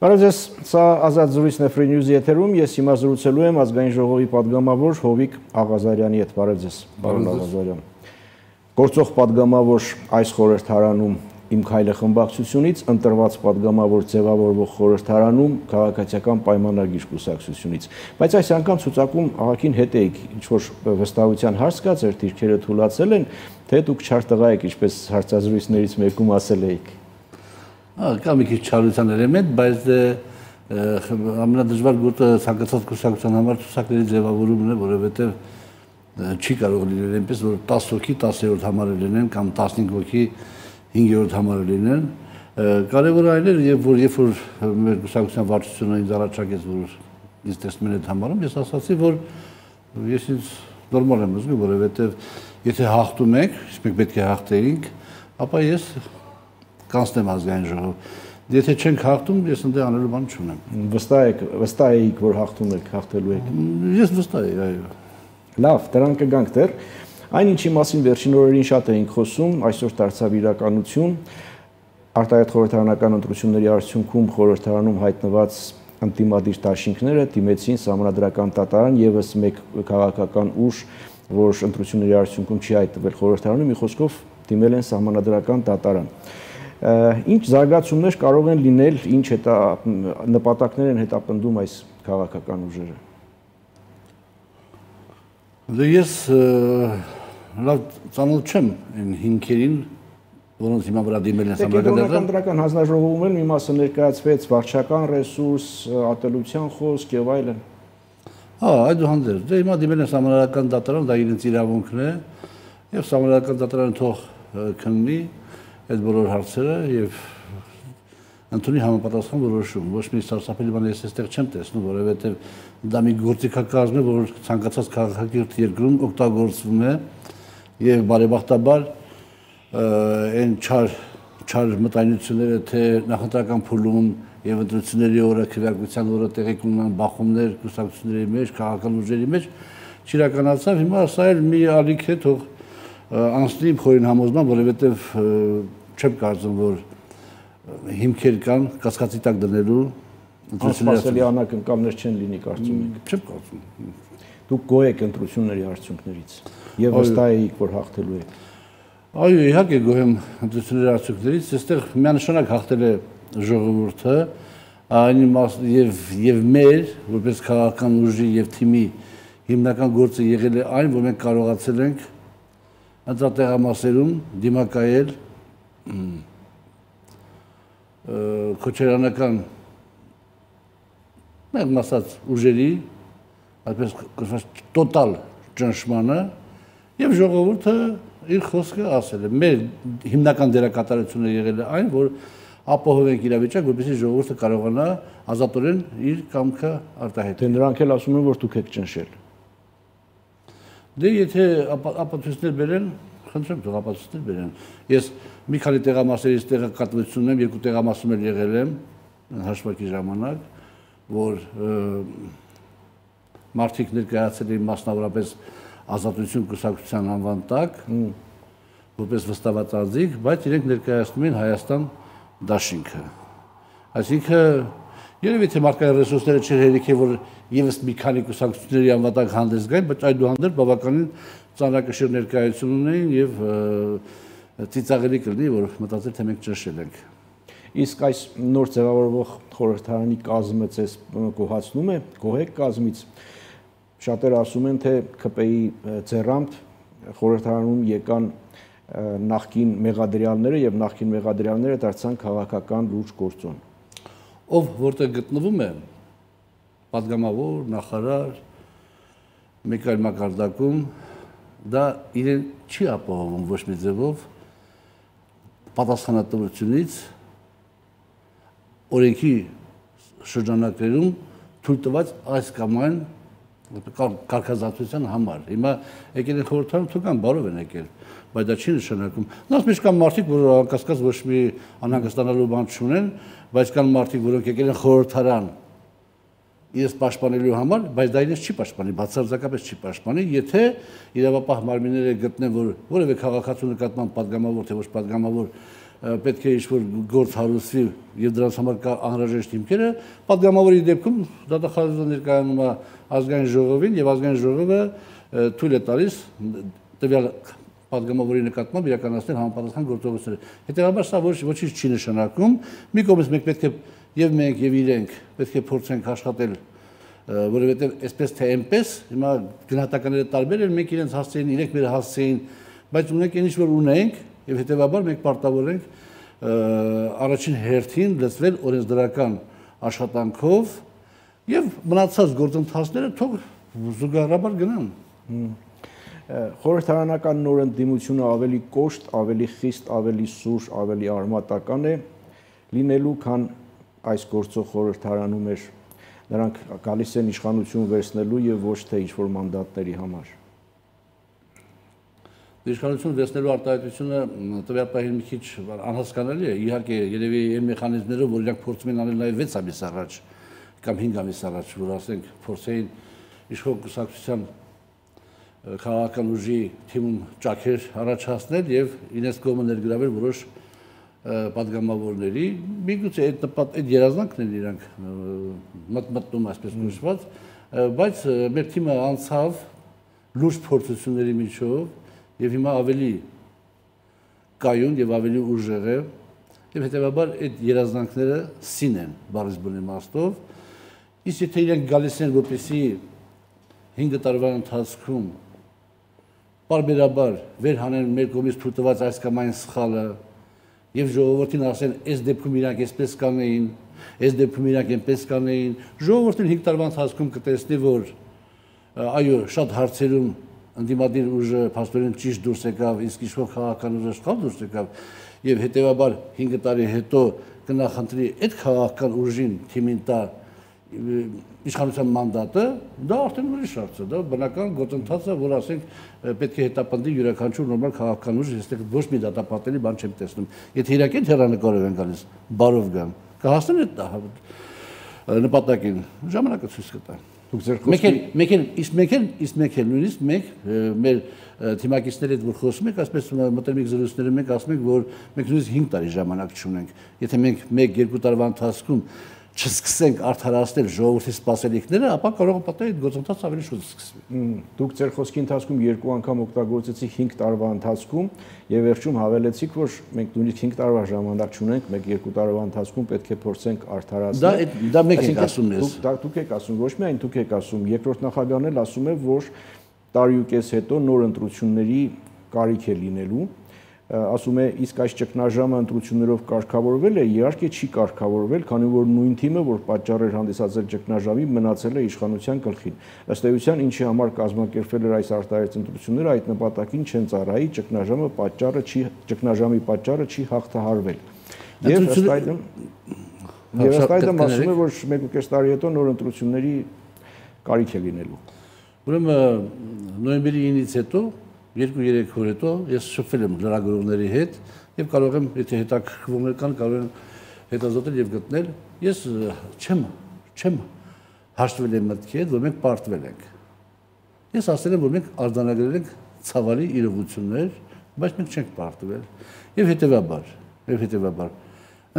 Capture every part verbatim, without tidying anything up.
Բարև, սա ազատ զրույցն է Free News-ի եթերում, ես հիմա զրուցելու եմ ազգային ժողովի падգամավոր Հովիկ Աղազարյանի հետ, բարև ձեզ, պարոն Աղազարյան։ Գործող падգամավոր այս խորհրդարանում Իմ քայլը խմբակցությունից, ընտրված падգամավոր ձևավորվող խորհրդարանում քաղաքացիական պայմանագիր կուսակցությունից։ Բայց այս անգամ ցուցակում աղաքին հետ էիք, ինչ-որ վստահության հարց կա, ձեր դիրքերը թուլացել են, թե դուք չար տղա եք, ինչպես հարցազրույցներից մեկում ասել էիք։ Կա մի քիչ չարության էլեմենտ, բայց ամենադժվար գոտը ցանկացած կուսակցության համար ցուցակների ձևավորումն է, որովհետև չի կարող լինել այնպես, որ տասը հոգի տասերորդ համարը լինեն կամ տասնհինգ հոգի հինգերորդ համարը լինեն, կարևորը այն էր, երբ որ երբ որ մեր կուսակցության վարչությունը ինձ առաջարկեց, որ ինձ տեսնում են այդ համարում, ես ասացի, որ ես ինձ նորմալ եմ զգում, որովհետև եթե հաղթում ենք, իսկ մենք պետք է հաղթեինք, ապա ես կանցնեմ ազգային ժողով։ Եթե չենք հաղթում, ես ընդդեմ անելու բան չունեմ։ Վստահ եք, վստահ էիք, որ հաղթում եք, հաղթելու եք։ Ես վստահ եմ, այո։ Լավ, դրան կգանք դեռ։ Այն ինչի մասին վերջին օրերին շատ էինք խոսում, այսօր դարձավ իրականություն, արտահայտ խորհրդարանական ընտրությունների արդյունքում խորհրդարանում հայտնված ընդդիմադիր դաշինքները դիմեցին սահմանադրական դատարան, եւս մեկ քաղաքական ուժ, որ ընտրությունների արդյունքում չի հայտնվել խորհրդարանում, մի խոսքով դիմել են սահմանադրական դատարան։ Ինչ զարգացումներ կարող են լինել, ինչ հետա նպատակներ են հետապնդում այս քաղաքական ուժերը։ Դե ես լավ ծանոթ չեմ այն հիմքերին, որոնց հիմա վրա դիմել են սահմանադրական դրական հանձնաժողովում էլ մի մասը ներկայացվեց վարչական ռեսուրս, ատելության խոսք եւ այլն։ Հա, այդուհանդերձ, դե հիմա դիմել են սահմանադրական դատարան, դա իրենց իրավունքն է, եւ սահմանադրական դատարանը թող քննի այդ բոլոր հարցերը եւ ընդունի համապատասխան որոշում։ Ոչ մի սարսափելի բան ես այստեղ չեմ տեսնում, որովհետեւ դա մի գործիքակազմ է, որ ցանկացած քաղաքակիրթ երկրում օգտագործվում է եւ բարեբախտաբար այն չար չար մտայնությունները, թե նախընտրական փուլում եւ ընտրությունների օրը քվեարկության օրը տեղի կունենան բախումներ կուսակցությունների մեջ, քաղաքական ուժերի մեջ չիրականացավ։ Հիմա սա էլ մի ալիք է, թող անցնի փորին համոզման, որովհետեւ չեմ կարծում, որ հիմքեր կան կասկածի տակ դնելու անսպասելի անակնկալներ չեն լինի, կարծում եք։ Չեմ կարծում։ Դուք գոհ եք ընտրությունների արդյունքներից եւ վստահ եք, որ հաղթելու եք։ Այո, իհարկե գոհ եմ ընտրությունների արդյունքներից, այստեղ միանշանակ հաղթել է ժողովուրդը, այն եւ եւ մեր որպես քաղաքական ուժի եւ թիմի հիմնական գործը եղել է այն, որ մենք կարողացել ենք ընտրատեղամասերում դիմակայել քոչարանական մեր մասած ուժերի, այդպես կոչված տոտալ ճնշմանը եւ ժողովուրդը իր խոսքը ասել է։ Մեր հիմնական դերակատարությունը եղել է այն, որ ապահովենք իրավիճակ, որպեսզի ժողովուրդը կարողանա ազատորեն իր կամքը արտահայտել։ Դե նրանք էլ ասում են, որ դուք եք ճնշել։ Դե եթե ապացույցներ բերեն, խնդրեմ թող ապացույցներ բերեն։ Ես մի քանի տեղամասերից տեղեկատվություն ունեմ, երկու տեղամասում էլ եղել եմ հաշվարկի ժամանակ, որ մարդիկ ներկայացել էին մասնավորապես ազատություն կուսակցության անվան տակ, որպես վստահված անձիկ, բայց իրենք ներկայացնում են Հայաստան դաշինքը։ Այսինքն երևի թե մարդկային ռեսուրսները չէր հերիք է, որ եւս մի քանի կուսակցությունների անվան տակ հանդես գային, բայց այդուհանդերձ բավականին ծանրակշիռ ներկայություն ունեին եւ ծիծաղելի կլինի, որ մտածել թե մենք ճնշել ենք։ Իսկ այս նոր ձևավորվող խորհրդարանի կազմը ձեզ գոհացնում է, գոհ եք կազմից։ Շատերը ասում են, թե ՔՊ-ի ձեռամբ խորհրդարանում եկան նախկին մեղադրյալները եւ նախկին մեղադրյալները դարձան քաղաքական լուրջ գործոն։ Ով որտեղ գտնվում է, падգամավոր, նախարար, մեկ այլ մակարդակում, դա իրեն չի ապահովում ոչ մի ձևով պատասխանատվությունից օրենքի շրջանակներում թույլ տված այս կամ այն կարգազատության համար։ Հիմա եկել են խորհրդարան, թող կան բարով են եկել, բայց դա չի նշանակում։ Նրանց մեջ կան մարդիկ, որ անկասկած ոչ մի անհանգստանալու բան չունեն, բայց կան մարդիկ, որոնք եկել են խորհրդարան իրենց պաշտպանելու համար, բայց դա իրենց չի պաշտպանի, բացարձակապես չի պաշտպանի, եթե իրավապահ մարմինները գտնեն, որ որևէ քաղաքացու նկատմամբ падգամավոր թե ոչ падգամավոր պետք է ինչ-որ գործ հարուցվի եւ դրանց համար կա անհրաժեշտ հիմքերը, պատգամավորի դեպքում դատախազը ներկայանում է ազգային ժողովին եւ ազգային ժողովը թույլ է տալիս տվյալ պատգամավորի նկատմամբ իրականացնել համապատասխան գործողություններ։ Հետևաբար սա ոչ ոչինչ չի նշանակում։ Մի կողմից մենք պետք է եւ մենք եւ իրենք պետք է փորձենք աշխատել, որովհետեւ այսպես թե այնպես հիմա գնահատականները տարբեր են, մենք իրենց հասցեին, իրենք մեր հասցեին, բայց ունենք այն ինչ որ ունենք եւ հետևաբար մենք պարտավոր ենք առաջին հերթին լծվել օրենսդրական աշխատանքով եւ մնացած գործընթացները թող զուգահեռաբար գնան։ Խորհրդարանական նոր ընդդիմությունը ավելի կոշտ, ավելի խիստ, ավելի սուր, ավելի արմատական է լինելու, քան այս գործող խորհրդարանում էր։ Նրանք գալիս են իշխանություն վերցնելու եւ ոչ թե ինչ-որ մանդատների համար։ Իշխանություն վերցնելու արտահայտությունը տվյալ պահին մի քիչ անհասկանալի է։ Իհարկե, երևի այն մեխանիզմներով, որ իրանք փորձում են անել նաեւ վեց ամիս առաջ կամ հինգ ամիս առաջ, որ ասենք փորձեին իշխող կուսակցության քաղաքական ուժի թիմում ճաքեր առաջացնել եւ ինձ կողմը ներգրավել որոշ պատգամավորների, միգուցե այդ նպատ այդ երազանքն են իրանք մտմտում այսպես նշված, բայց մեր թիմը անցավ լուրջ փորձությունների միջով եւ հիմա ավելի կայուն եւ ավելի ուժեղ է եւ հետեւաբար այդ երազանքները սին են բառից բուն իմաստով, իսկ եթե իրենք գալիս են որպեսի հինգ տարվա ընթացքում պարբերաբար վերհանեն մեր կողմից թույլտված այս կամ այն սխալը եւ ժողովրդին ասեն, այս դեպքում իրանք այսպես կանեին, այս դեպքում իրանք այնպես կանեին, ժողովուրդն հինգ տարվա ընթացքում կտեսնի, որ այո, շատ հարցերում ընդդիմադիր ուժը փաստորեն ճիշտ դուրս եկավ, իսկ իշխող քաղաքական ուժը սխալ դուրս եկավ եւ հետեւաբար հինգ տարի հետո կնախընտրի այդ քաղաքական ուժին թիմին տա իշխանության մանդատը, դա արդեն ուրիշ հարց է, դա բնական գործընթաց է, որ ասենք պետք է հետապնդի յուրաքանչյուր նորմալ քաղաքական ուժ, այստեղ ոչ մի դատապարտելի բան չեմ տեսնում։ Եթե իրենք այդ հեռանկարով են գալիս, բարով գան, կհասնեն այդ նպատակին, ժամանակը ցույց կտա։ Մեկ էլ, մեկ էլ, իսկ մեկ էլ, իսկ մեկ էլ նույնիսկ մենք մեր թիմակիցների հետ որ խոսում ենք, ասես մտերմիկ զրույցներում մենք ասում ենք, որ մենք նույնիսկ հինգ տարի ժամանակ չունենք։ Եթե մենք մեկ երկու տարվա ընթացքում չսկսենք արդարացնել ժողովրդի սպասելիքները, ապա կարող է պատահի այդ գործընթացը ավելի շուտ սկսվի։ Դուք ձեր խոսքի ընթացքում երկու անգամ օգտագործեցիք հինգ տարվա ընթացքում եւ վերջում հավելեցիք, որ մենք նույնիսկ հինգ տարվա ժամանակ չունենք, մեկ երկու տարվա ընթացքում պետք է փորձենք արդարացնել։ Դա դա մեկ եք ասում ես։ Դուք եք ասում, ոչ միայն դուք եք ասում, երկրորդ նախագահն էլ ասում է, որ տարի ու կես հետո նոր ընտրությունների կարիք է լինելու։ Ասում է, իսկ այս ճգնաժամը ընտրություններով կարգավորվել է, իհարկե չի կարգավորվել, քանի որ նույն թիմը, որ պատճառ էր հանդիսացել ճգնաժամի, մնացել է իշխանության գլխին։ Ըստ էության, ինչի համար կազմակերպվել էր այս արտահայտ ընտրությունները, այդ նպատակին չեն ծառայի, ճգնաժամը պատճառը չի, ճգնաժամի պատճառը չի հաղթահարվել։ Եվ ըստ այդմ, եւ ըստ այդմ ասում է, որ մեկ ու կես տարի հետո նոր ընտրությունների կարիք է լինելու։ Ուրեմն նոյեմբերի ինից հետո երկու-երեք օր հետո ես շփվել եմ լրագրողների հետ եւ կարող եմ, եթե հետաքրքրումներ կան, կարող եմ հետազոտել եւ գտնել։ Ես չեմ, չեմ հաշտվել եմ մտքի հետ, որ մենք պարտվել ենք։ Ես ասել եմ, որ մենք արձանագրել ենք ցավալի իրողություններ, բայց մենք չենք պարտվել։ Եվ հետեւաբար, եւ հետեւաբար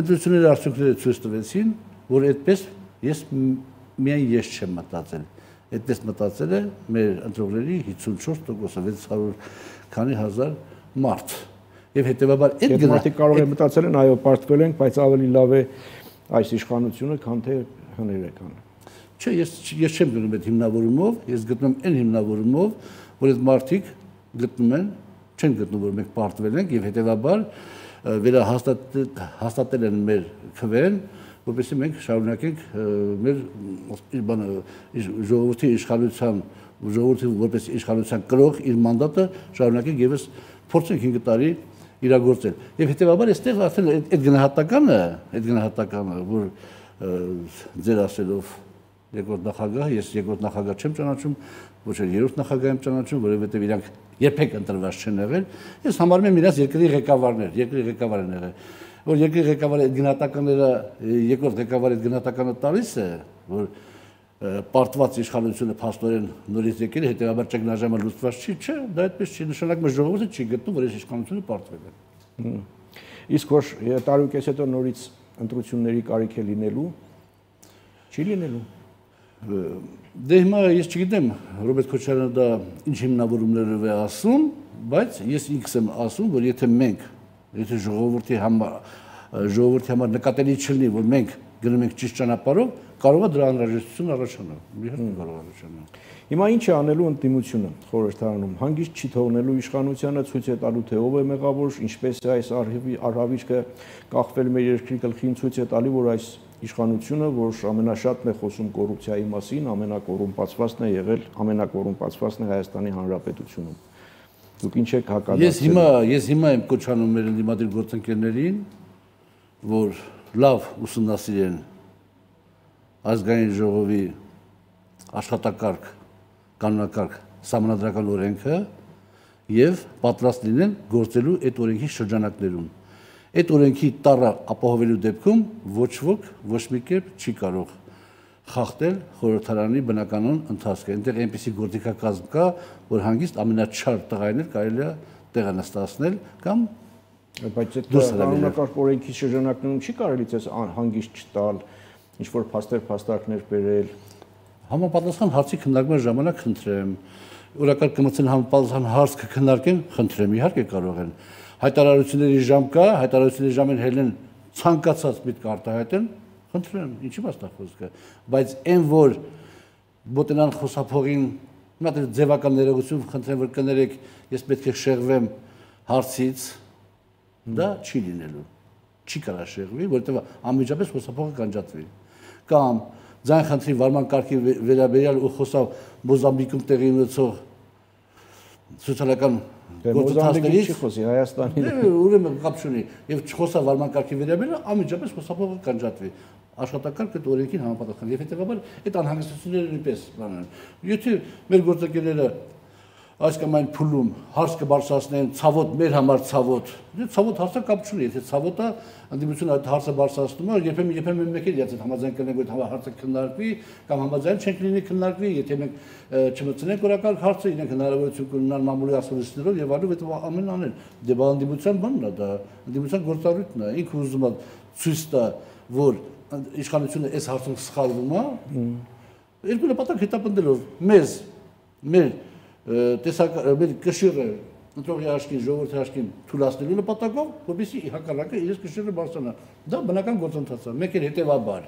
ընտրությունների արդյունքները ցույց տվեցին, որ այդպես ես միայն ես չեմ մտածել։ Այդպես մտածել է մեր ընտրողների հիսունչորս տոկոսը, վեց հարյուր քանի հազար մարդ։ Եվ հետեւաբար այդ գնա մարդիկ կարող են մտածել են, այո, պարտվել ենք, բայց ավելի լավ է այս իշխանությունը, քան թե հները կան։ Չէ, ես ես չեմ գնում այդ հիմնավորումով, ես գտնում եմ այն հիմնավորումով, որ այդ մարդիկ գտնում են, չեն գտնում, որ մենք պարտվել ենք եւ հետեւաբար վերահաստատել են մեր քվեն, որպեսզի մենք շարունակենք մեր բանը ժողովրդի իշխանության ժողովրդի որպես իշխանության կրող իր մանդատը շարունակենք եւս փորձենք հինգ տարի իրագործել։ Եվ հետեւաբար այստեղ արդեն այդ գնահատականը, այդ գնահատականը, որ ձեր ասելով երկրորդ նախագահ, ես երկրորդ նախագահ չեմ ճանաչում, ոչ էլ երրորդ նախագահ եմ ճանաչում, որովհետեւ իրանք երբեք ընտրված չեն եղել։ Ես համարում եմ իրաց երկրի ղեկավարներ, երկրի ղեկավար են եղել։ Որ երկրի ղեկավարի այդ գնահատականները, երկրորդ ղեկավարի այդ գնահատականը տալիս է, որ պարտված իշխանությունը փաստորեն նորից եկել է, հետեւաբար ճգնաժամը լուծված չի, չէ, դա այդպես չի, նշանակում է ժողովուրդը չի գտնում, որ այս իշխանությունը պարտվել է։ Իսկ որ տարի ու կես հետո նորից ընտրությունների կարիք է լինելու, չի լինելու։ Դե հիմա ես չգիտեմ Ռոբերտ Քոչարյանը դա ինչ հիմնավորումներով է ասում, բայց ես ինքս եմ ասում, որ եթե մենք, եթե ժողովրդի համար ժողովրդի համար նկատելի չլինի, որ մենք գնում ենք ճիշտ ճանապարհով, կարող է դրա անհրաժեշտություն առաջանալ։ Իհարկե կարող է առաջանալ։ Հիմա ինչ է անելու ընդդիմությունը խորհրդարանում։ Հանգիստ չի թողնելու իշխանությանը, ցույց է տալու թե ով է մեղավոր, ինչպես է այս արհավիրքը կախվել մեր երկրի գլխին, ցույց է տալի, որ այս իշխանությունը, որ ամենաշատն է խոսում կոռուպցիայի մասին, ամենակոռումպացվածն է եղել, ամենակոռումպացվածն է Հայաստանի Հանրապետությունում։ Դուք ինչ եք հակադարձել։ Ես հիմա ես հիմա եմ կոչանում մեր ընդդիմադիր գործընկերներին, որ լավ ուսումնասիրեն ազգային ժողովի աշխատակարգ, կանոնակարգ, սահմանադրական օրենքը եւ պատրաստ լինեն գործելու այդ օրենքի շրջանակներում։ Այդ օրենքի տառը ապահովելու դեպքում ոչ ոք ոչ մի կերպ չի կարող խախտել խորհրդարանի բնականոն ընթացքը։ Այնտեղ այնպիսի գործիքակազմ կա, որ հանգիստ ամենաչար տղայներ կարելի է տեղը նստացնել կամ բայց այդ կանոնակարգ օրենքի շրջանակներում չի կարելի ցես հանգիստ չտալ, ինչ որ փաստեր, փաստարկներ բերել։ Համապատասխան հարցի քննարկման ժամանակ խնդրեմ, օրակարգ կմցեն համապատասխան հարց կքննարկեն, խնդրեմ, իհարկե կարող են։ Հայտարարությունների ժամ կա, հայտարարությունների ժամին հելեն ցանկացած միտք արտահայտեն, խնդրեմ, ինչի՞ մասնա խոսքը, բայց այն որ բոտենան խոսափողին մատ ձևական ներողություն խնդրեմ որ կներեք, ես պետք է շեղվեմ հարցից, դա չի լինելու, չի կարա շեղվի, որովհետև անմիջապես խոսափողը կանջատվի։ Կամ ձայն խնդրի վարման կարգի վերաբերյալ ու խոսավ Մոզամբիկում տեղի ունեցող սոցիալական գործընթացներից չի խոսի Հայաստանի։ Ուրեմն կապ չունի եւ չխոսա վարման կարգի վերաբերյալ անմիջապես խոսափողը կանջատվի։ Աշխատակարգ այդ օրենքին համապատասխան եւ հետեւաբար այդ անհանգստությունները նույնպես բանան։ Եթե մեր գործընկերները այս կամ այն փուլում հարց կբարձրացնեն ցավոտ մեր համար ցավոտ, դե ցավոտ հարցը կապ չունի, եթե ցավոտը ընդդիմությունը այդ հարցը բարձրացնում է, երբեմն երբեմն մեկ էլ իրաց համաձայն կլինենք որ հարցը քննարկվի կամ համաձայն չենք լինի քննարկվի, եթե մենք չմտցնենք օրակարգ հարցը, իրենք հնարավորություն կունենան մամուլի ասուլիսներով եւ այլն, այդ ամենն անել։ Դե բա ընդդիմության բանն է դա, ընդդիմության գործառույթն է, ինքը ուզում է ցույց տա, որ իշխանությունը այս հարցում սխալվում է, երկու նպատակ հետապնդելով մեզ, մեր տեսակ մեր կշիռը ընտրողի հաշկին, ժողովրդի հաշկին թույլատնելու նպատակով, որպեսզի հակառակը իրենց կշիռը բարձրանա։ Դա բնական գործընթաց է, մեկ էլ հետևաբար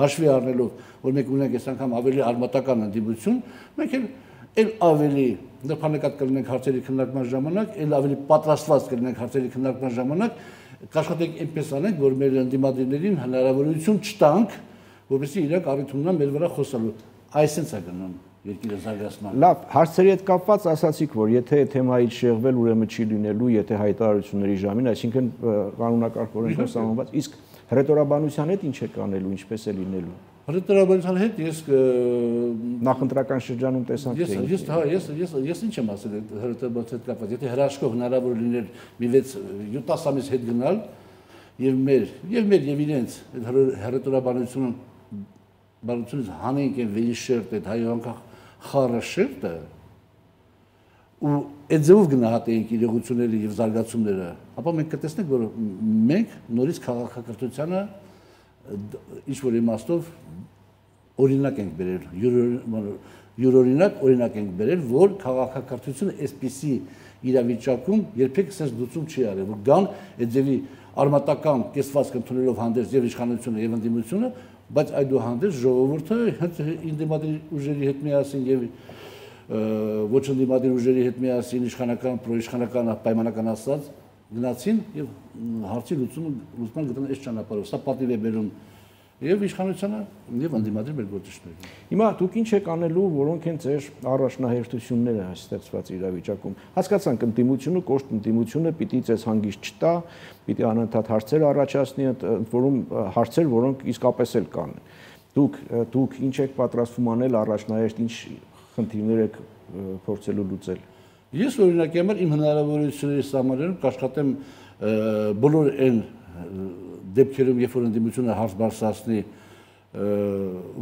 հաշվի առնելով, որ մենք ունենք այս անգամ ավելի արմատական ընդդիմություն, մենք էլ էլ ավելի նրբանկատ կլինենք հարցերի քննարկման ժամանակ, էլ ավելի պատրաստված կլինենք հարցերի քննարկման ժամանակ, կաշխատենք այնպես անենք, որ մեր ընդդիմադիրներին հնարավորություն չտանք, որպեսզի իրենք առիթ ունենան մեր վրա խոսալու։ Այսինքն է գնում երկիրը զարգացման։ Լավ, հարցերի հետ կապված ասացիք, որ եթե թեմայից շեղվել, ուրեմն չի լինելու, եթե հայտարարությունների ժամին, այսինքն կանոնակարգ օրենքով սահմանված, իսկ հռետորաբանության հետ ինչ է կանելու, ինչպես է լինելու։ Հռետորաբանության հետ ես նախընտրական շրջանում տեսանք թե ես հա ես ես ես ինչ եմ ասել հռետորաբանության հետ կապված, եթե հրաշքով հնարավոր լիներ մի վեց յոթ ամիս հետ գնալ եւ մեր եւ մեր եւ իրենց հռետորաբանությունը բանությունից հանենք են վերիշերտ այդ հայանկախ խառը շերտը ու այդ ձևով գնահատեինք իրողությունները եւ զարգացումները, ապա մենք կտեսնենք, որ մենք նորից քաղաքակրթությանը ինչ որ իմաստով օրինակ ենք բերել, յուրօրինակ օրինակ ենք բերել, որ քաղաքակրթությունը այսպիսի իրավիճակում երբեք sense լուծում չի արել, որ գան այդ ձևի արմատական կեսվածք ընդունելով հանդերձ եւ իշխանությունը եւ ընդդիմությունը, բայց այդուհանդերձ ժողովուրդը ընդդիմադիր ուժերի հետ միասին եւ ոչ ընդդիմադիր ուժերի հետ միասին իշխանական, պրոիշխանական պայմանական ասած գնացին եւ հարցի լուծումը լուծման գտան այս ճանապարհով։ Սա պատիվ է բերում եւ իշխանությանը եւ ընդդիմադիր մեր գործիչներին։ Հիմա դուք ինչ եք անելու, որոնք են ձեր առաջնահերթությունները ստեղծված իրավիճակում։ Հասկացանք, ընդդիմությունը, կոշտ ընդդիմությունը պիտի ձեզ հանգիստ չտա, պիտի անընդհատ հարցեր առաջացնի, որում հարցեր, որոնք իսկապես էլ կան։ Դուք դուք ինչ եք պատրաստվում անել առաջնահերթ, ինչ խնդիրներ եք փորձելու լուծել։ Ես օրինակի համար իմ հնարավորությունների սահմաններում կաշխատեմ բոլոր այն դեպքերում, երբ որ ընդդիմությունը հարց բարձրացնի,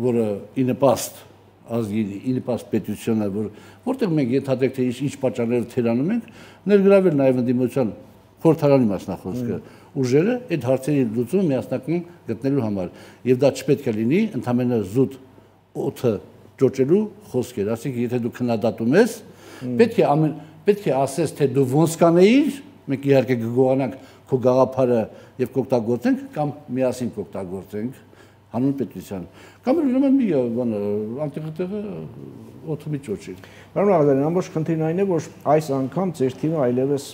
որը ի նպաստ ազգի, ի նպաստ պետությանը, որ որտեղ մենք ենթադրենք թե ինչ պատճառներով թերանում ենք, ներգրավել նաև ընդդիմության խորհրդարանի մասնախոսքը, ուժերը այդ հարցերի լուծումը միասնական գտնելու համար։ Եվ դա չպետք է լինի ընդհանրապես զուտ օդը ճոճելու խոսքեր, ասենք եթե դու քննադատում ես, պետք է ամեն պետք է ասես թե դու ոնց կանեիր, մենք իհարկե կգողանանք քո գաղափարը եւ կօգտագործենք կամ միասին կօգտագործենք հանուն պետության։ Կամ ուրեմն մի բան անտեղը օդը մի ճոճի։ Պարոն Աղդարյան, ամբողջ խնդիրն այն է, որ այս անգամ ձեր թիմը այլևս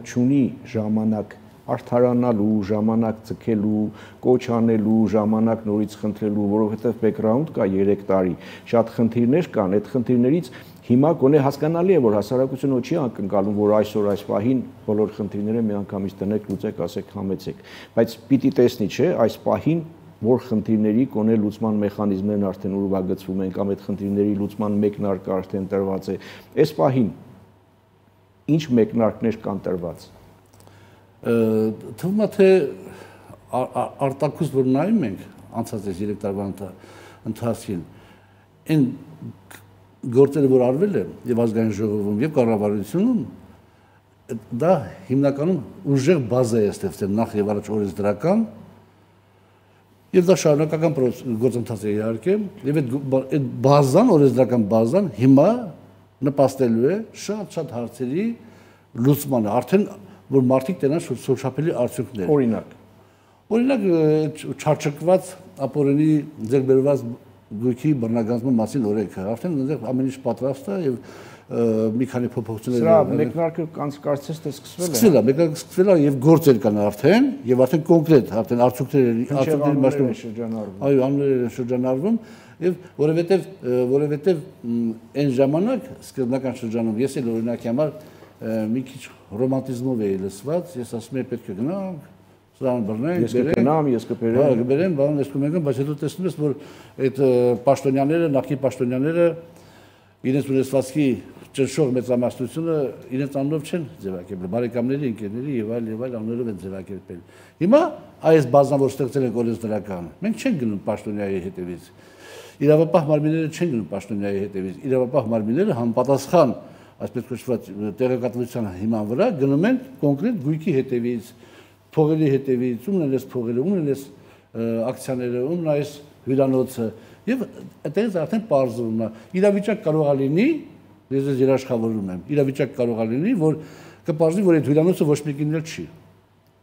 չունի ժամանակ արդարանալու, ժամանակ ցկելու, կոչ անելու, ժամանակ նորից խնդրելու, որովհետև բեքգրաունդ կա երեք տարի, շատ խնդիրներ կան, այդ խնդիրներից հիմա գոնե հասկանալի է, որ հասարակությունը չի ակնկալում, որ այսօր այս պահին բոլոր խնդիրները միանգամից տնեք, լուծեք, ասեք, համեցեք, բայց պիտի տեսնի, չէ, այս պահին որ խնդիրների գոնե լուծման մեխանիզմներն արդեն ուրվագծվում են կամ այդ խնդիրների լուծման մեկնարկը արդեն տրված է, այս պահին ինչ մեկնարկներ կան տրված։ Թվում է թե արտակուս որ նայում ենք անցած այս երեք տարվա ընթացքին, այն գործերը որ արվել է եւ ազգային ժողովում եւ կառավարությունում, դա հիմնականում ուժեղ բազա է ստեղծել նախ եւ առաջ օրենսդրական եւ դա շարունակական գործընթաց է իհարկե եւ այդ բազան օրենսդրական բազան հիմա նպաստելու է շատ-շատ հարցերի լուծմանը, արդեն որ մարդիկ տենան շոշափելի արդյունքներ։ Օրինակ։ Օրինակ չարչկված ապօրինի ձեռքբերված գույքի բռնագանձման մասին օրենքը, արդեն այնտեղ ամեն ինչ պատրաստ է եւ մի քանի փոփոխություններ։ Սրա մեկնարկը կարծես թե սկսվել է։ Սկսվել է, մեկնարկը սկսվել է եւ գործեր կան արդեն եւ արդեն կոնկրետ, արդեն արդյունքներ արդյունքների մասում շրջանառվում։ Այո, անունները շրջանառվում եւ որովհետեւ որովհետեւ այն ժամանակ սկզբնական շրջանում ես էլ օրինակի համար մի քիչ ռոմանտիզմով էի լսված, ես ասում եմ պետք է գնանք, սրան բռնենք, ես կգնամ, ես կբերեմ։ Հա, կբերեմ, բան ես կունենամ, բայց հետո տեսնում ես, որ այդ պաշտոնյաները, նախկին պաշտոնյաները իրենց ունեցվածքի ճնշող մեծամասնությունը իրենց անունով չեն ձևակերպել, բարեկամների, ընկերների եւ այլ եւ այլ անուններով են ձևակերպել։ Հիմա այս բազան որ ստեղծել են օրենսդրական, մենք չենք գնում պաշտոնյայի հետևից։ Իրավապահ մարմինները չեն գնում պաշտոնյայի հետևից։ Իրավապահ մարմինները համապատասխան այսպես կոչված տեղեկատվության հիման վրա գնում են կոնկրետ գույքի հետևից, փողերի հետևից, ումն էլ էս փողերը, ումն էլ էս ակցիաները, ումն այս հյուրանոցը եւ այդտեղից արդեն պարզվում է։ Իրավիճակ կարող է լինի, ես ես երաշխավորում եմ, իրավիճակ կարող է լինի, որ կպարզվի, որ այդ հյուրանոցը ոչ մեկին էլ չի։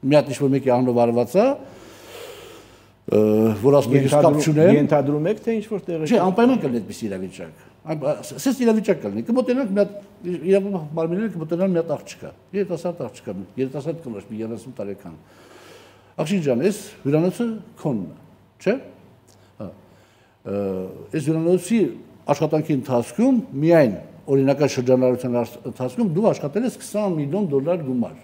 Մի հատ ինչ-որ մեկի անունով արված է, որ ասում եք կապ չունեն։ Ենթադրում եք թե ինչ-որ տեղը։ Չէ, անպայման կլինի այդպես իրավիճակ։ Սենց իրավիճակ կլինի, կմոտենանք մի հատ իրավապահ մարմինները կմոտենան մի հատ աղջկա, երիտասարդ աղջկա, երիտասարդ կնոջ, մի երեսուն տարեկան։ Աղջիկ ջան, այս հյուրանոցը քոնն է, չէ՞։ Հա։ Այս հյուրանոցի աշխատանքի ընթացքում միայն օրինական շրջանառության ընթացքում դու աշխատել ես քսան միլիոն դոլար գումար։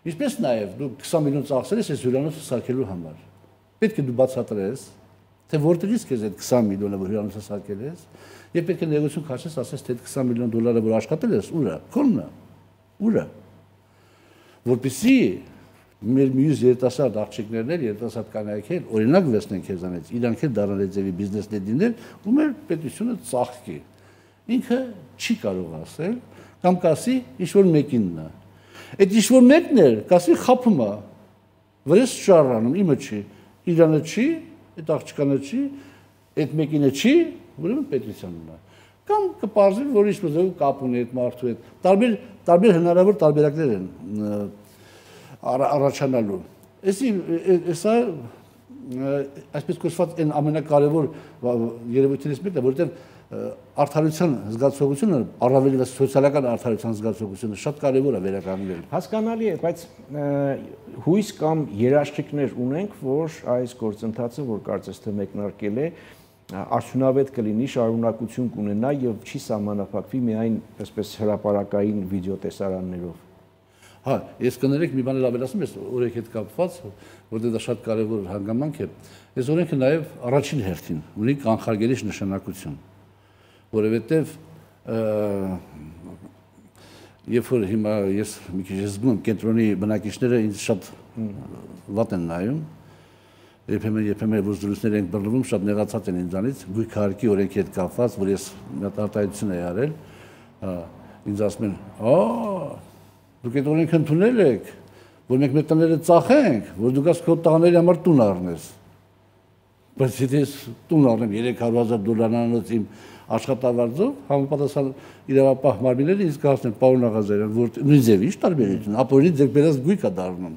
Ինչպես նաև դու քսան միլիոն ծախսել ես այս հյուրանոցը սարքելու համար։ Պետք է դու բացատրես, թե որտեղից քեզ այդ քսան միլիոնը որ հյուրանոցը սարքել ես, եւ պետք է ներողություն քաշես, ասես թե այդ քսան միլիոն դոլարը որ աշխատել ես, ուր է, քոնն է, ուր է։ Որպեսզի մեր մյուս երիտասարդ աղջիկներն էլ, երիտասարդ կանայքեր օրինակ վերցնեն քեզանից, իրանք էլ դառնան այդ ձևի բիզնեսնետիներ, ու մեր պետությունը ծաղկի։ Ինքը չի կարող ասել, կամ կասի ինչ-որ մեկինն է։ Այդ ինչ-որ մեկն է, կասի խափում է, վրես շարանում, իմը չի, իրանը չի, այդ աղջկանը չի, այդ մեկինը չի, ուրեմն պետությանն է։ Կամ կպարզվի, որ ինչ-որ կապ ունի այդ մարդու հետ։ Տարբեր տարբեր հնարավոր տարբերակներ են առաջանալու։ Այսա այսպես կոչված այն ամենակարևոր երևույթներից մեկն է, որովհետև արդարության զգացողությունը, առավել սոցիալական արդարության զգացողությունը շատ կարևոր է վերականգնել։ Հասկանալի է, բայց հույս կամ երաշխիքներ ունենք, որ այս գործընթացը, որ կարծես թե մեկնարկել է, արդյունավետ կլինի, շարունակություն կունենա եւ չի սահմանափակվի միայն այսպես հրապարակային վիդեոտեսարաններով։ Հա, ես կներեք մի բան էլ ավելացնում ես օրենքի հետ կապված, որտեղ դա շատ կարևոր հանգամանք է։ Այս օրենքը նաեւ առաջին հերթին ունի կանխարգելիչ նշանակություն, որովհետեւ երբ որ հիմա ես մի քիչ զգում եմ կենտրոնի բնակիչները ինձ շատ վատ են նայում, երբեմն երբեմն որ զրույցներ են բռնվում, շատ նեղացած են ինձանից, գույքահարկի օրենքի հետ կապված, որ ես արտահայտություն եի արել, ինձ ասում են, «Ա, Դուք այդ օրենքը ընդունել եք, որ մենք մեր տները ծախենք, որ դուք այս քո տղաների համար տուն առնես։ Բայց եթե տուն առնեմ երեք հարյուր հազար դոլարանոց իմ աշխատավարձով, համապատասխան իրավապահ մարմինները ինձ կհասնեն պարոն Աղազարյան, որ նույն ձևի ինչ տարբերություն, ապօրինի ձեր բերած գույք է դառնում։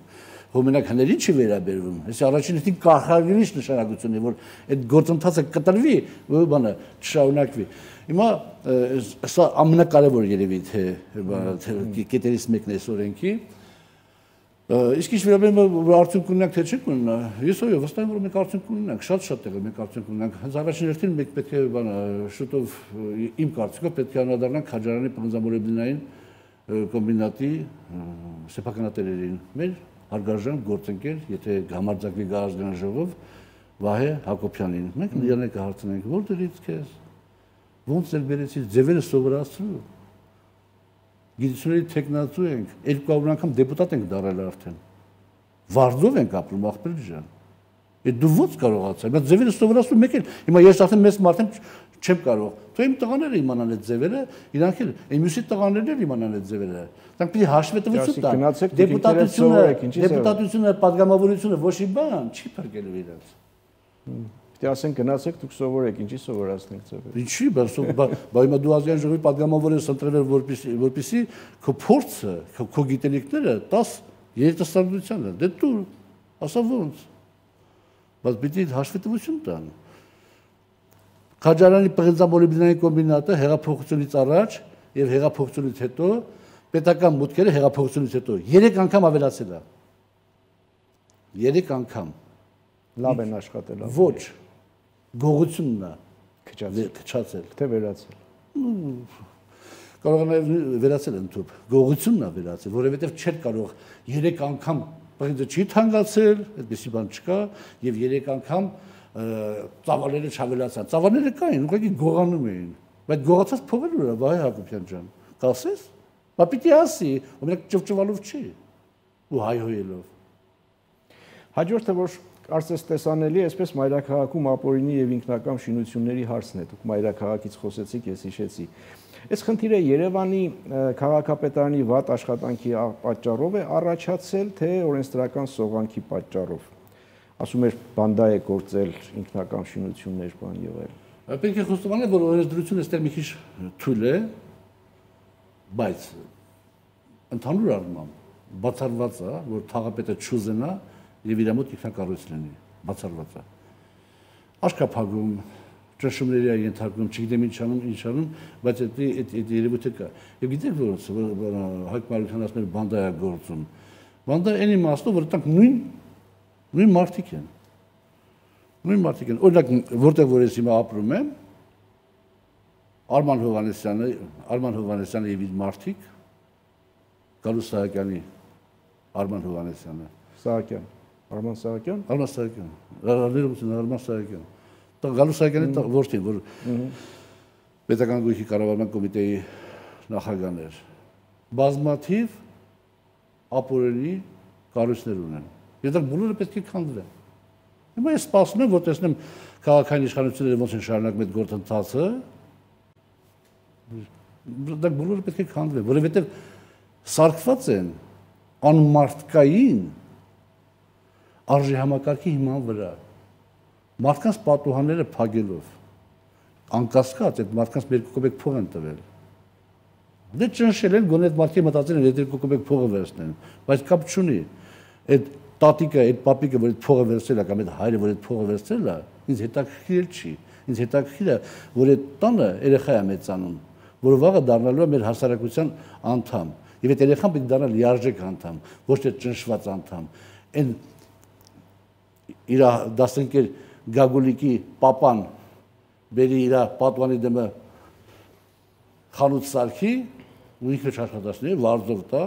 Որ մենակ հների չի վերաբերվում։ Այս առաջին հերթին կարգավորիչ նշանակություն է, որ այդ գործընթացը կտրվի, որ բանը չշարունակվի։ Հիմա սա ամենակարևոր երևի թե կետերից մեկն է այս օրենքի։ Իսկ ինչ վերաբերում է արդյունք ունենանք թե չենք ունենա, ես ով վստահ եմ որ մենք արդյունք ունենանք, շատ-շատ տեղը մենք արդյունք ունենանք։ Հենց առաջին հերթին մենք պետք է բանը շուտով իմ կարծիքով պետք է անդրադառնանք Քաջարյանի պղնձամոլեբդենային կոմբինատի սեփականատերերին։ Մեր հարգարժան գործընկեր, եթե համարձակվի գա ազգային ժողով Վահե Հակոբյանին։ Մենք նրան կհարցնենք, որտեղից քեզ, ոնց էլ բերեցի, ձևերը սովորացրու։ Գիտությունների տեխնացու ենք, երկու հարյուր անգամ դեպուտատ ենք դառել արդեն։ Վարձով ենք ապրում, ախպեր ջան։ Այդ դու ո՞նց կարողացա։ Բայց ձևերը սովորացրու մեկ էլ։ Հիմա ես արդեն մեծ մարդ եմ, չեմ կարող։ Թող իմ տղաները իմանան այդ ձևերը, իրանք էլ այն մյուսի տղաներն էլ իմանան այդ ձևերը։ Դրանք պիտի հաշվետվություն տան։ Դեպուտատությունը, դեպուտատությունը, падգամավորությունը ոչ մի բան չի փրկելու իրենց։ Պիտի ասեն գնացեք դուք սովորեք, ինչի սովորացնենք ձևերը։ Ինչի, բայց հիմա դու ազգային ժողովի падգամավոր ես ընտրվել, որպեսզի որպեսզի քո փորձը, քո գիտելիքները տաս երիտասարդությանը։ Դե դու ասա ո՞նց։ Բայց պիտի հաշվետվություն տան։ Քաջարյանի պղնձամոլեբդենային կոմբինատը հեղափոխությունից առաջ եւ հեղափոխությունից հետո պետական մուտքերը հեղափոխությունից հետո երեք անգամ ավելացել է։ երեք անգամ։ Լավ են աշխատել։ Ոչ։ Գողությունն է քչացել, քչացել, թե վերացել։ Կարող է նաեւ վերացել ընդհանուր։ Գողությունն է վերացել, որովհետեւ չէր կարող երեք անգամ պղնձը չի թանկացել, այդպեսի բան չկա եւ երեք անգամ ծավալները չավելացան։ Ծավալները կային, ուղղակի գողանում էին։ Բայց գողացած փողերը ուրա, Վահե Հակոբյան ջան, կասես։ Բա պիտի ասի, ու մենակ ճվճվալով չի, ու հայհոյելով։ Հաջորդը որ կարծես տեսանելի է, այսպես մայրաքաղաքում ապօրինի եւ ինքնակամ շինությունների հարցն է։ Դուք մայրաքաղաքից խոսեցիք, ես հիշեցի։ Այս խնդիրը Երևանի քաղաքապետարանի վատ աշխատանքի պատճառով է առաջացել, թե օրենսդրական սողանքի պատճառով։ Ասում էր բանդա է գործել ինքնակամ շինություններ բան եւ այլն։ Պետք է խոստովանել, որ օրենսդրությունը այստեղ մի քիչ թույլ է, բայց ընդհանուր առմամբ բացառված է, որ թաղապետը չուզենա եւ իր մոտ ինքնակառույց լինի, բացառված է։ Աշկափագում, ճնշումների է ենթարկում, չգիտեմ ինչ անում, ինչ անում, բայց այդ այդ երևույթը կա։ Եվ գիտեք ոնց Հայկ Մարությանը ասում էր բանդա է գործում։ Բանդա այն իմաստով, որ տանք նույն նույն մարդիկ են։ Նույն մարդիկ են։ Օրինակ, որտեղ որ ես հիմա ապրում եմ, Արման Հովհաննիսյանը, Արման Հովհաննիսյանը եւ իր մարդիկ, Գալուս Սահակյանի Արման Հովհաննիսյանը, Սահակյան, Արման Սահակյան, Արման Սահակյան, Արման Արման Սահակյան։ Դա Գալուս Սահակյանի որդին, որ պետական գույքի կառավարման կոմիտեի նախագահն էր։ Բազմաթիվ ապօրինի կառույցներ ունեն։ Եվ դա բոլորը պետք է քանդվեն։ Հիմա ես սպասում եմ, որ տեսնեմ քաղաքային իշխանությունները ոնց են շարունակում այդ գործընթացը։ Դա բոլորը պետք է քանդվեն, որովհետև սարքված են անմարդկային արժի համակարգի հիման վրա։ Մարդկանց պատուհանները փակելով, անկասկած այդ մարդկանց երկու կոպեկ փող են տվել։ Դե ճնշել են, գոնե այդ մարդիկ մտածել են այդ երկու կոպեկ փողը վերցնեն, բայց կապ չունի։ Այդ տատիկը, այդ պապիկը, որ այդ փողը վերցրել է, կամ այդ հայրը, որ այդ փողը վերցրել է, ինձ հետաքրքիր չի։ Ինձ հետաքրքիր է, որ այդ տանը երեխա է մեծանում, որ վաղը դառնալու է մեր հասարակության անդամ։ Եվ այդ երեխան պետք է դառնա լիարժեք անդամ, ոչ թե ճնշված անդամ։ Այն իր դասընկեր Գագուլիկի պապան բերի իր պատվանի դեմը խանութ սարքի ու ինքը չաշխատացնի, վարձով տա,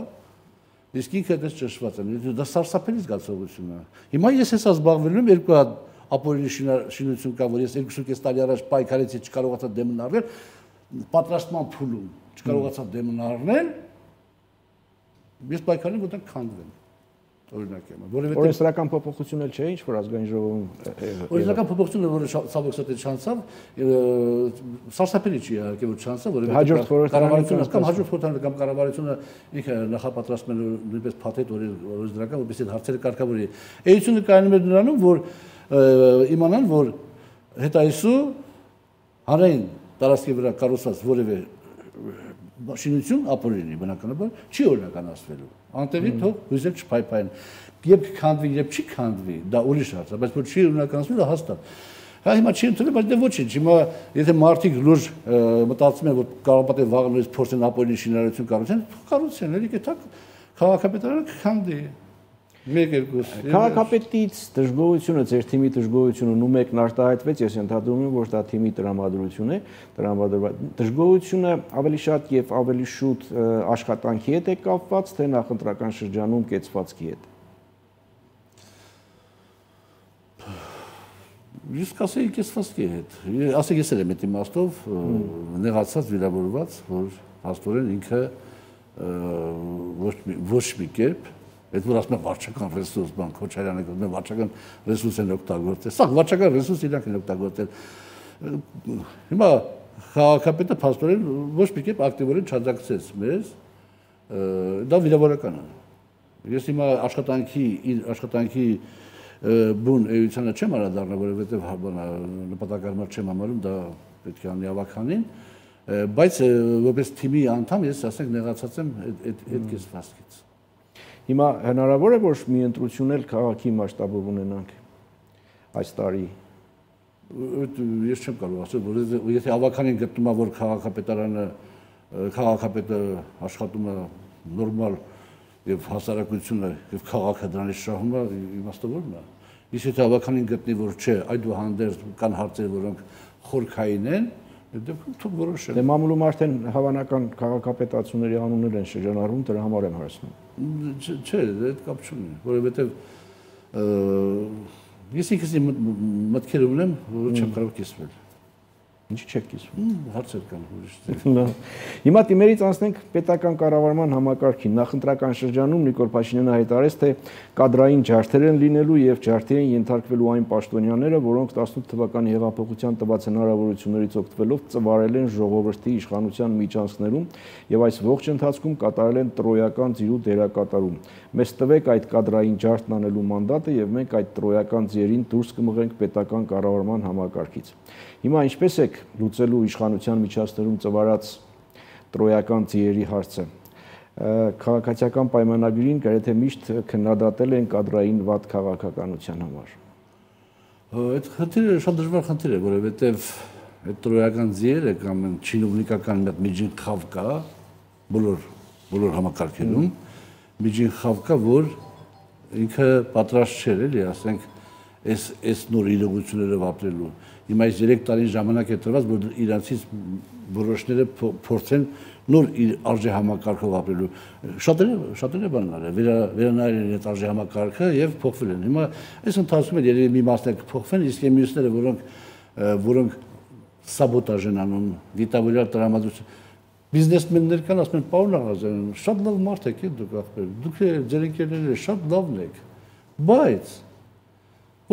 իսկ ինքը դες ճնշված է։ Դա սարսափելի զգացողություն է։ Հիմա ես հեսա զբաղվել եմ երկու հատ ապօրինի շինություն կա, որ ես երկու տարի առաջ պայքարեցի, չկարողացա դեմն առնել, պատրաստման փուլում չկարողացա դեմն առնել, ես պայքարել եմ, որ դա քանդվեն։ օրինակ եմ։ Օրենսդրական փոփոխություն էլ չէ, ինչ որ ազգային ժողովում։ Օրենսդրական փոփոխությունը, որը ցավոք սրտի չանցավ, սարսափելի չի իհարկե որ չանցավ, որովհետեւ կառավարությունը կամ հաջորդ խորհրդարանը կամ կառավարությունը ինքը նախապատրաստում է նույնպես փաթեթ օրենսդրական, որպեսզի հարցերը կարգավորի։ Էությունը կայանում է նրանում, որ իմանան, որ հետայսու հանրային տարածքի վրա կառուցված որևէ շինություն ապօրինի բնականաբար չի օրինականացվելու։ Անտեղի թող հույզեր չփայփային։ Երբ քանդվի, երբ չի քանդվի, դա ուրիշ հարց է, բայց որ չի օրինականացվելու հաստատ։ Հա հիմա չի ընդունել, բայց դե ոչինչ։ Հիմա եթե մարդիկ լուրջ մտածում են, որ կարողապատե վաղը նույնիսկ փորձեն ապօրինի շինարարություն կառուցեն, կառուցեն, էլի կտա քաղաքապետարանը կքանդի։ Մեկ երկու։ Քաղաքապետից դժգոհությունը, ձեր թիմի դժգոհությունը նու մեկն արտահայտվեց, ես ընդհանրում եմ, որ դա թիմի տրամադրություն է, տրամադրված։ Դժգոհությունը ավելի շատ եւ ավելի շուտ աշխատանքի հետ է կապված, թե նախընտրական շրջանում կեցվածքի հետ։ Ես կասեի կեցվածքի հետ։ Ասեք ես էլ եմ այդ իմաստով նեղացած, վիրավորված, որ հաստորեն ինքը ոչ մի կերպ Այդ որ ասում են վարչական ռեսուրս, բան Քոչարյանը ասում է վարչական ռեսուրս են օգտագործել։ Սա վարչական ռեսուրս իրանք են օգտագործել։ Հիմա քաղաքապետը փաստորեն ոչ մի կերպ ակտիվորեն չաջակցեց մեզ, դա վիրավորական է։ Ես հիմա աշխատանքի աշխատանքի բուն էությանը չեմ անդրադառնա, որովհետև նպատակարար չեմ համարում, դա պետք է անի ավականին, բայց որպես թիմի անդամ ես ասենք նեղացած եմ այդ այդ կեսվածքից։ Հիմա հնարավոր է որ մի ընտրություն էլ քաղաքի մասշտաբով ունենանք այս տարի։ Ես չեմ կարող ասել, որ եթե ավականին գտնում է որ քաղաքապետարանը քաղաքապետը աշխատում է նորմալ եւ հասարակությունը եւ քաղաքը դրանից շահում է, իմաստավորն է։ Իսկ եթե ավականին գտնի որ չէ, այդուհանդերձ կան հարցեր, որոնք խորքային են, դեպքում թող որոշեն։ Դե մամուլում արդեն հավանական քաղաքապետացուների անուններ են շրջանառվում, դրա համար եմ հարցնում։ Չէ, այդ կապ չունի, որովհետև ես ինքս մտքեր ունեմ, որ չեմ կարող կիսվել։ Ինչի՞ չեք կիսվում։ Հարցեր կան ուրիշ։ Հիմա դիմերից անցնենք պետական կառավարման համակարգին։ Նախընտրական շրջանում Նիկոլ Փաշինյանը հայտարարեց, թե կադրային ջարդեր են լինելու եւ ջարդի են ենթարկվելու այն պաշտոնյաները, որոնք տասնութ թվականի հեղափոխության տված հնարավորություններից օգտվելով ծվարել են ժողովրդի իշխանության միջանցքներում եւ այս ողջ ընթացքում կատարել են տրոյական ձիրու դերակատարում։ Մեզ տվեք այդ կադրային ջարդն անելու մանդատը եւ մենք այդ տրոյական ձիերին դուրս կմղենք պետական կառավարման համակարգից։ Հիմա ինչպես եք լուծելու իշխանության միջանցքներում ծվարած տրոյական ձիերի հարցը։ Քաղաքացիական պայմանագրին գրեթե միշտ քննադատել են կադրային վատ քաղաքականության համար։ Այդ խնդիրը շատ դժվար խնդիր է, որովհետև այդ տրոյական ձիերը կամ չինովնիկական մի միջին խավ կա բոլոր բոլոր համակարգերում, միջին խավ կա, որ ինքը պատրաստ չէր, էլի, ասենք, այս այս նոր իրողությունները ապրելու։ Հիմա այս երեք տարի ժամանակ է տրված, որ իրանցից որոշները փորձեն նոր արժե համակարգով ապրելու։ Շատերը շատերը բաններ է, վերանայել են այդ արժե համակարգը եւ փոխվել են։ Հիմա այս ընթացքում էլ երևի մի մասն է կփոխվեն, իսկ մյուսները, որոնք որոնք սաբոտաժ են անում, դիտավորյալ տրամադրություն բիզնեսմեններ կան, ասում են, պարոն Աղազարյան, շատ լավ մարդ եք, դուք ախպեր, դուք ձեր ընկերները շատ լավն եք, բայց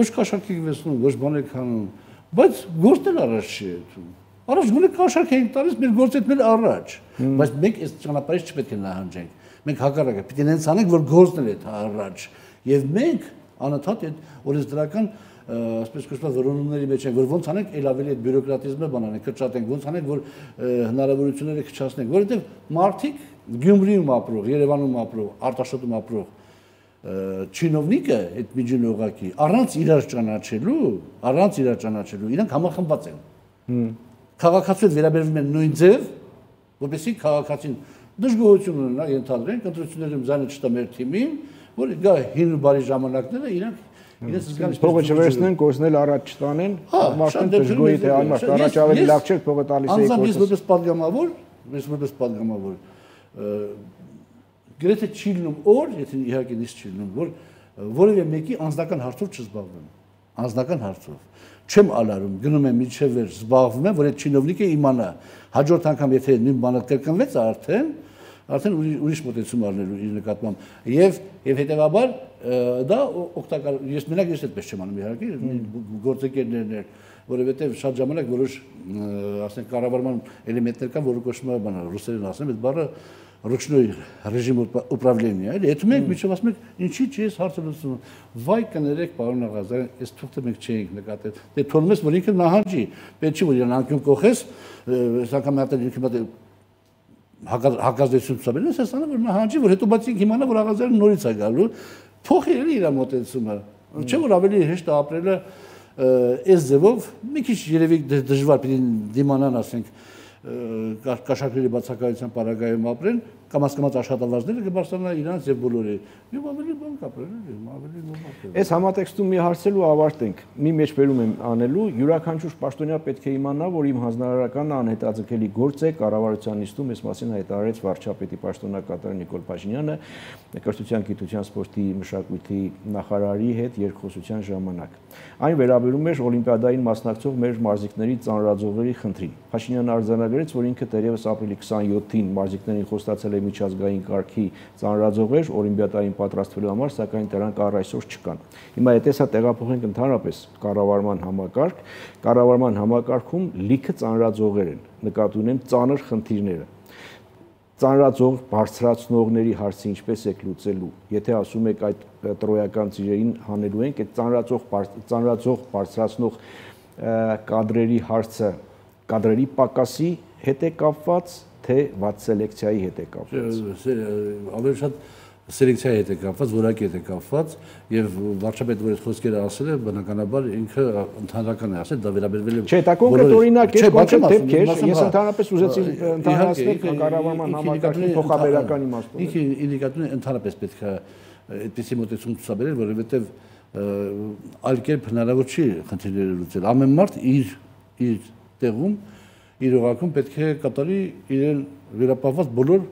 ոչ կաշառք եք վեցնում, ոչ բան եք անում, բայց գործն էլ առաջ չի եթում։ Առաջ գոնե կաշառք ենք տալիս, մեր գործն էլ առաջ, բայց մենք այս ճանապարհից չպետք է նահանջենք։ Մենք հակառակը պիտի նենց անենք, որ գործն էլ է առաջ։ Եվ մենք անընդհատ այդ օրենսդրական ասպես կոչված որոնումների մեջ ենք, որ ոնց անենք ել ավելի այդ բյուրոկրատիզմը բանանենք, կրճատենք, ոնց անենք, որ հնարավորությունները քչացնենք, որովհետև մարդիկ Գյումրիում ապրող, Երևանում ապրող, Արտաշոտում ապրող չինովնիկը այդ միջին օղակի առանց իրար ճանաչելու, առանց իրար ճանաչելու, իրանք համախմբված են։ Քաղաքացիները վերաբերվում են նույն ձև, որպեսզի քաղաքացին դժգոհություն ունենա, ենթադրենք, ընտրություններում զանը չտա մեր թիմին, որ գա հին ու բարի ժամանակները իրանք իրենց զգալի փողը չվերցնեն, կորցնել առաջ չտանեն, մարդուն դժգոհի թե անմարդ առաջ ավելի լավ չէ փողը տալիս էի կորցնել։ Անձամբ ես որպես падգամավոր, ես որպես падգամավոր գրեթե չի լինում օր, եթե իհարկե նիստ չի լինում, որ որևէ մեկի անձնական հարցով չզբաղվեմ, անձնական հարցով։ Չեմ ալարում, գնում եմ միջև զբաղվում եմ, որ այդ չինովնիկը իմանա։ Հաջորդ անգամ եթե նույն բանը կրկնվեց արդեն, արդեն ուրիշ մոտեցում առնելու իր նկատմամբ եւ եւ հետեւաբար դա օգտակար ես մենակ ես այդպես չեմ անում իհարկե գործընկերներն էր որովհետեւ շատ ժամանակ որոշ ասենք կառավարման էլեմենտներ կան որը կոչվում է բանը ռուսերեն ասեմ այդ բառը ручной режим управления այլ եթե մենք միջով ասում ենք ինչի՞ չի ես հարցը լուծում վայ կներեք պարոն Աղազարյան այս թուղթը մենք չէինք նկատել դե թողնում ես որ ինքը նահանջի պետք չի որ իրան անկյուն կողես այս անգամ հատել ինքը հակազդեցություն ցուցաբերել ես ասանը որ նահանջի որ հետո բայց ինքը իմանա որ Աղազարյանը նորից է գալու փոխի էլի իր մոտեցումը չէ որ ավելի հեշտ է ապրելը այս ձևով մի քիչ երևի դժվար պիտի դիմանան ասենք կաշառքների բացակայության պարագայում ապրեն կամ հասկացած աշխատավարձները կբարձրանա իրանց եւ բոլորի եւ ավելի բան կապրեն ավելի նորմալ Այս համատեքստում մի հարցելու ավարտենք մի մեջբերում եմ անելու յուրաքանչյուր պաշտոնյա պետք է իմանա որ իմ հանձնարարականը անհետաձգելի գործ է կառավարության նիստում այս մասին հայտարարեց վարչապետի պաշտոնակատար Նիկոլ Փաշինյանը կրթության, գիտության, սպորտի, մշակույթի նախարարի հետ երկխոսության ժամանակ այն վերաբերում էր օլիմպիադային մասնակցող մեր մարզիկների ծանրաձողերի խնդրին Փաշինյանը արձանագրեց որ ինքը դեռևս ապրիլի քսաներկուին մարզիկներին խոստացել է միջազգային կարգի ծանրաձողեր օլիմպիադային պատրաստվելու համար, սակայն դրանք առ այսօր չկան։ Հիմա եթե սա տեղափոխենք ընդհանրապես կառավարման համակարգ, կառավարման համակարգում լիքը ծանրաձողեր են, նկատի ունեմ ծանր խնդիրները։ Ծանրաձող բարձրացնողների հարցը ինչպես եք լուծելու։ Եթե ասում եք այդ տրոյական ծիրերին հանելու ենք, այդ ծանրաձող ծանրաձող բարձրացնող կադրերի հարցը կադրերի պակասի հետ է կապված թե վատ սելեկցիայի հետ է կապված։ Ավելի շատ սելեկցիայի հետ է կապված, որակի հետ է կապված եւ վարչապետը որ այդ խոսքերը ասել է, բնականաբար ինքը ընդհանրական է ասել, դա վերաբերվել է Չէ, դա կոնկրետ օրինակ է, կոնկրետ դեպք է, ես ընդհանրապես ուզեցի ընդհանրացնել կառավարման համակարգի փոխաբերական իմաստով։ Ինքը ինդիկատորն է ընդհանրապես պետք է այդպիսի մոտեցում ցուցաբերել, որովհետեւ այլ կերպ հնարավոր չի խնդիրները լուծել։ Ամեն մարդ իր իր տեղում իր օղակում պետք է կատարի իրեն վերապահված բոլոր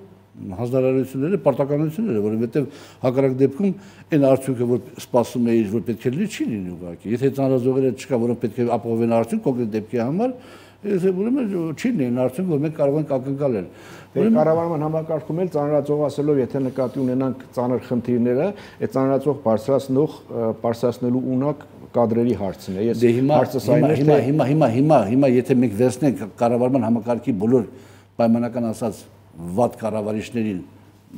հանձնարարությունները, պարտականությունները, որովհետև հակառակ դեպքում այն արդյունքը, որ սպասում էիր, որ պետք է լինի, չի լինի ուղղակի։ Եթե ծանրաձողերը չկա, որոնք պետք է ապահովեն արդյունք կոնկրետ դեպքի համար, ուրեմն չի լինի արդյունք, որ մենք կարող ենք ակնկալել։ Կառավարման համակարգում էլ ծանրաձող ասելով, եթե նկատի ունենանք ծանր խնդիրները, այդ ծանրաձող բարձրացնող, բարձրացնելու ունակ կադրերի հարցն է։ Ես հարցս այն է, հիմա հիմա հիմա հիմա հիմա եթե մենք վերցնենք կառավարման համակարգի բոլոր պայմանական ասած վատ կառավարիչներին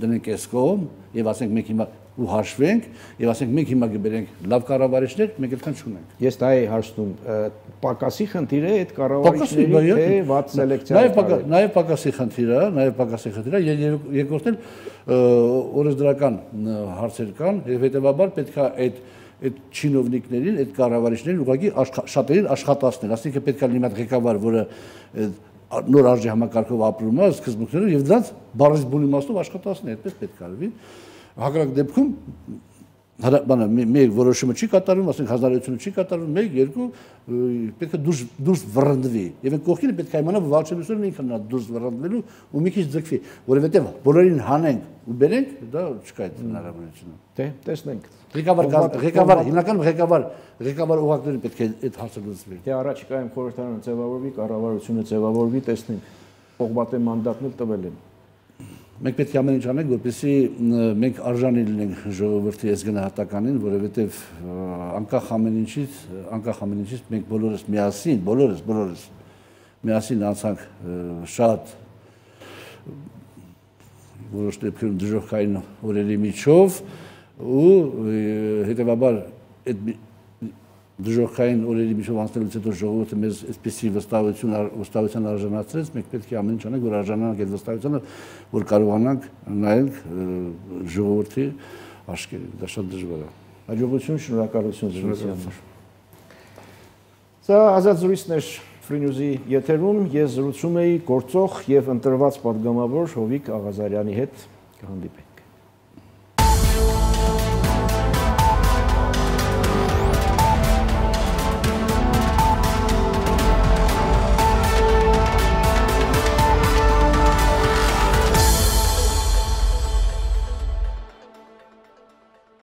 դնենք այս կողմ եւ ասենք մենք հիմա ու հաշվենք եւ ասենք մենք հիմա կբերենք լավ կառավարիչներ, մենք այդքան չունենք։ Ես դա էի հարցնում, պակասի խնդիր է այդ կառավարիչների թե վատ սելեկցիա։ Նաեւ նաեւ պակասի խնդիր է, նաեւ պակասի խնդիր է, երկրորդն օրենսդրական հարցեր կան եւ հետեւաբար պետք է այդ այդ չինովնիկներին, այդ կառավարիչներին ուղղակի շատերին աշխատացնել, ասինքն պետք է լինի մի ղեկավար, որը նոր արժի համակարգով ապրում է, սկզբունքներով եւ դրանց բառից բուն իմաստով աշխատացնել, այդպես պետք է արվի։ Հակառակ դեպքում բանը մեկ որոշումը չի կատարվում, ասենք հանրությունը չի կատարվում, մեկ, երկու պետք է դուրս դուրս վռնդվի։ Եվ այդ կողքին պետք է իմանա, որ վարչությունն ինքն նա դուրս վռնդվելու ու մի քիչ ձգվի, որովհետեւ բոլորին հանենք ու բերենք, դա չկա այդ հնարավորությունը։ Դե, տեսնենք։ Ղեկավար ղեկավար հիմնական ղեկավար ղեկավար ուղղակիորեն պետք է այդ հարցը լուծվի։ Դե առաջիկայում խորհրդարանը ձևավորվի, կառավարությունը ձևավորվի, տեսնենք։ Պողբատե մանդատն էլ տվել են։ Մենք պետք է ամեն ինչ անենք, որպեսզի մենք արժանի լինենք ժողովրդի այս գնահատականին, որովհետև անկախ ամեն ինչից, անկախ ամեն ինչից մենք բոլորս միասին, բոլորս, բոլորս միասին անցանք շատ որոշ դեպքերում դժոխքային օրերի միջով ու հետևաբար այդ դժոխքային օրերի միջով անցնելուց հետո ժողովուրդը մեզ այսպեսի վստահություն վստահության արժանացրեց, մենք պետք է ամեն ինչ անենք, որ արժանանանք այդ վստահությանը, որ կարողանանք նայենք ժողովրդի աչքերին, դա շատ դժվար է։ Հաջողություն, շնորհակալություն զրույցի համար։ Սա ազատ զրույցն էր Free News-ի եթերում, ես զրուցում էի գործող եւ ընտրված պատգամավոր Հովիկ Աղազարյանի հետ, կհանդիպենք։